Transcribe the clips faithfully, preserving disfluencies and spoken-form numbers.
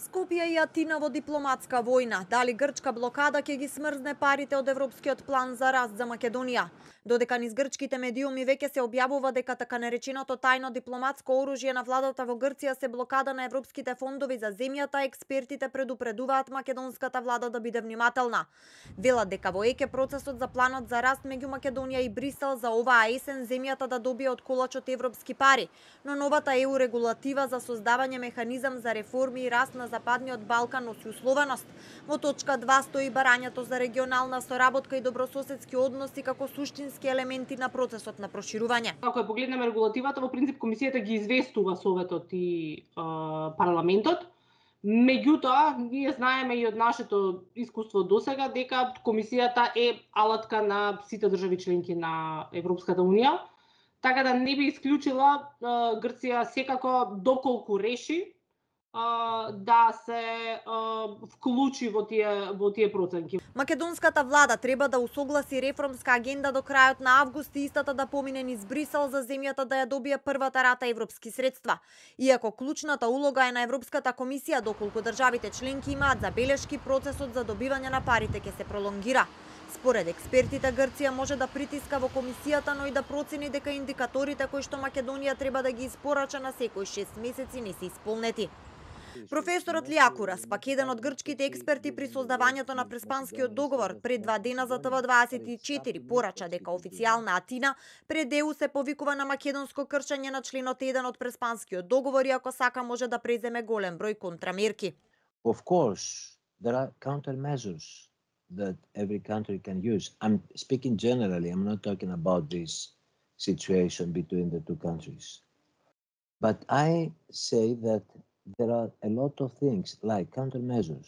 Скопје и Атина во дипломатска војна. Дали грчка блокада ќе ги смрзне парите од Европскиот план за раст за Македонија? Додека низ грчките медиуми веќе се објавува дека така нареченото тајно дипломатско оружје на владата во Грција се блокада на европските фондови за земјата, експертите предупредуваат македонската влада да биде внимателна. Велат дека во ЕК процесот за планот за раст меѓу Македонија и Брисел за оваа есен земјата да добие од колачот европски пари, но новата ЕУ регулатива за создавање механизам за реформи и раст на Западниот Балкан носи условеност. Во точка два стои барањето за регионална соработка и добрососедски односи како суштински елементи на процесот на проширување. Ако ја погледнеме регулативата, во принцип комисијата ги известува Советот и е, парламентот. Меѓутоа, ние знаеме и од нашето искуство досега дека комисијата е алатка на сите држави членки на Европската унија, така да не би исклучила е, Грција секако доколку реши да се вклучи во тие во тие проценки. Македонската влада треба да усогласи реформска агенда до крајот на август и истата да помине низ Брисел за земјата да ја добие првата рата европски средства. Иако клучната улога е на Европската комисија, доколку државите членки имаат забелешки, процесот за добивање на парите ќе се пролонгира. Според експертите, Грција може да притиска во комисијата, но и да процени дека индикаторите кои што Македонија треба да ги испорача на секој шест месеци не се исполнети. Професорот Лијакурас, пак еден од грчките експерти при создавањето на Преспанскиот договор, пред два дена за Т В дваесет и четири порача дека официјална Атина пред ЕУ се повикува на македонско кршење на членот еден од Преспанскиот договор и ако сака може да преземе голем број контрамерки. Of course, there are countermeasures that every country can use. I'm speaking generally, I'm not talking about this situation between the two countries. But I say that there are a lot of things like countermeasures.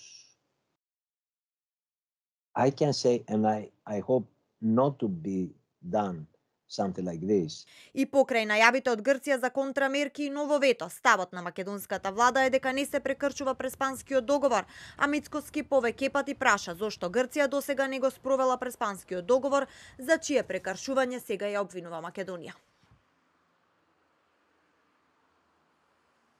I can say, and I, I hope not to be done something like this. И покрај најавите од Грција за контрамерки и ново вето, ставот на македонската влада е дека не се прекршува Преспанскиот договор, а Мицкоски повеќе пати праша зошто Грција досега не го спровела Преспанскиот договор, за чие прекршување сега ја обвинува Македонија.